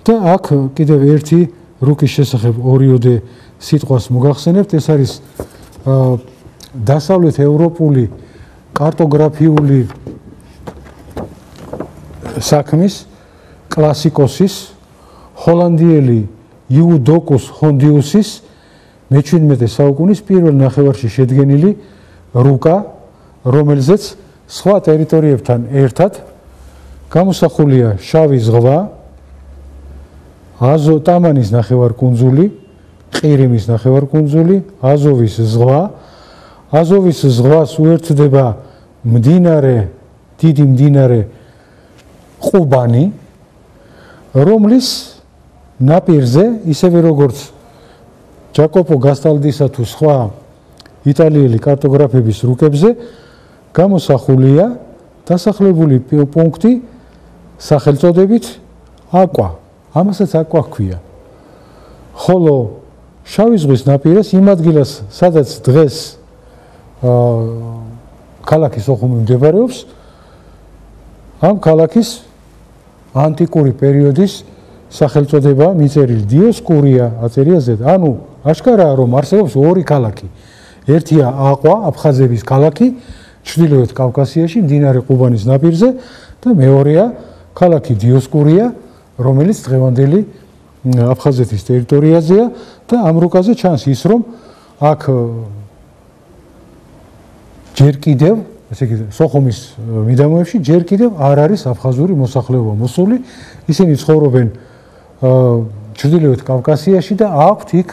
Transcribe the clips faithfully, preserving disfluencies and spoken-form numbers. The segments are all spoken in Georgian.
და აქ კიდევ ერთი რუკის შესახებ ორიოდე სიტყვას მოგახსენებთ, ეს არის დასავლეთ ევროპული კარტოგრაფიული საქმის კლასიკოსის ჰოლანდიელი იუდოკუს ჰონდიუსის მეჩვიდმეტე საუკუნის პირველ ნახევარში შედგენილი რუკა, რომელზეც სხვა ტერიტორიებთან ერთად გამოსახულია შავი ზღვა, აზო ტამანის ნახევარკუნძული, ყირიმის ნახევარკუნძული, აზოვის ზღვა. აზოვის ზღვას უერთდება მდინარე, დიდი მდინარე ყუბანი, რომლის ნაპირზე, ისევე როგორც ჯაკოპო გასტალდისა თუ სხვა იტალიელი კარტოგრაფების რუკებზე, გამოსახულია დასახლებული პუნქტი სახელწოდებით აკვა. ამასაც აკვა ჰქვია. ხოლო შავი ზღვის ნაპირას იმ ადგილას, სადაც დღეს ქალაქი სოხუმი მდებარეობს, ამ ქალაქის ანტიკური პერიოდის სახელწოდება მიწერილი დიოსკურია აწერია ზედ. ანუ აშკარაა, რომ არსებობს ორი ქალაქი. ერთია აყვა, აფხაზების ქალაქი, ჩრდილოეთ კავკასიაში, მდინარე ყუბანის ნაპირზე და მეორეა ქალაქი დიოსკურია, რომელიც დღევანდელი აფხაზეთის ტერიტორიაზეა და ამ რუკაზე ჩანს ის, რომ აქ ჯერ კიდევ, ესე იგი, სოხუმის მიდამოებში ჯერ კიდევ არ არის აფხაზური მოსახლეობა მოსული. ისინი ცხოვრობენ ჩრდილოეთ კავკასიაში და აქვთ იქ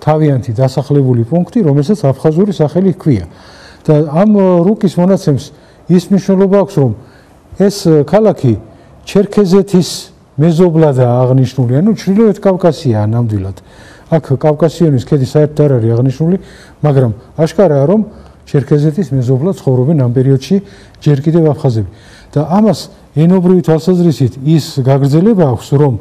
თავიანთი დასახლებული პუნქტი, რომელსაც აფხაზური სახელი ჰქვია. და ამ რუკის მონაცემს ის მნიშვნელობა აქვს, რომ ეს ქალაქი ჩერქეზეთის მეზობლადაა აღნიშნული, ანუ ჩრდილოეთ კავკასიაა ნამდვილად. აქ კავკასიონის ქედი საერთოდ არ არის აღნიშნული, მაგრამ აშკარაა, რომ ჩერქეზეთის მეზობლად ცხოვრობენ ამ პერიოდში ჯერ კიდევ აფხაზები. და ამას ენობრივი თვალსაზრისით ის გაგრძელება აქვს, რომ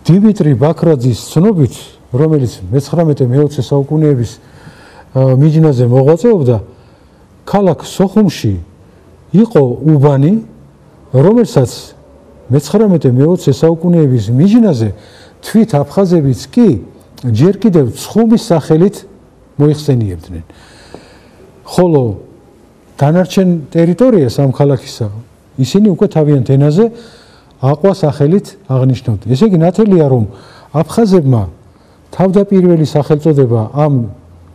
დიმიტრი ბაქრაძის ცნობით, რომელიც მეცხრამეტე მეოცე საუკუნეების მიჯნაზე მოღვაწეობდა, ქალაქ სოხუმში იყო უბანი, რომელსაც მეცხრამეტე მეოცე საუკუნეების მიჯნაზე თვით აფხაზებიც კი ჯერ კიდევ ცხუმის სახელით მოიხსენიებდნენ. ხოლო დანარჩენ ტერიტორიას ამ ქალაქისა ისინი უკვე თავიანთ ენაზე აყვა სახელით აღნიშნავდნენ. ესე იგი, ნათელია, რომ აფხაზებმა თავდაპირველი სახელწოდება ამ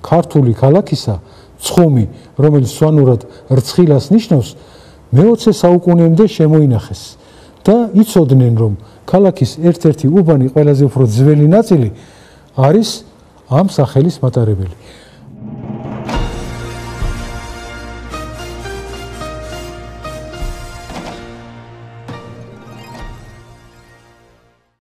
ქართული ქალაქისა, ცხუმი, რომელიც სვანურად რცხილას ნიშნავს, მეოცე საუკუნემდე შემოინახეს და იცოდნენ, რომ ქალაქის ერთ-ერთი უბანი ყველაზე უფრო ძველი ნაწილი არის ამ სახელის მატარებელი.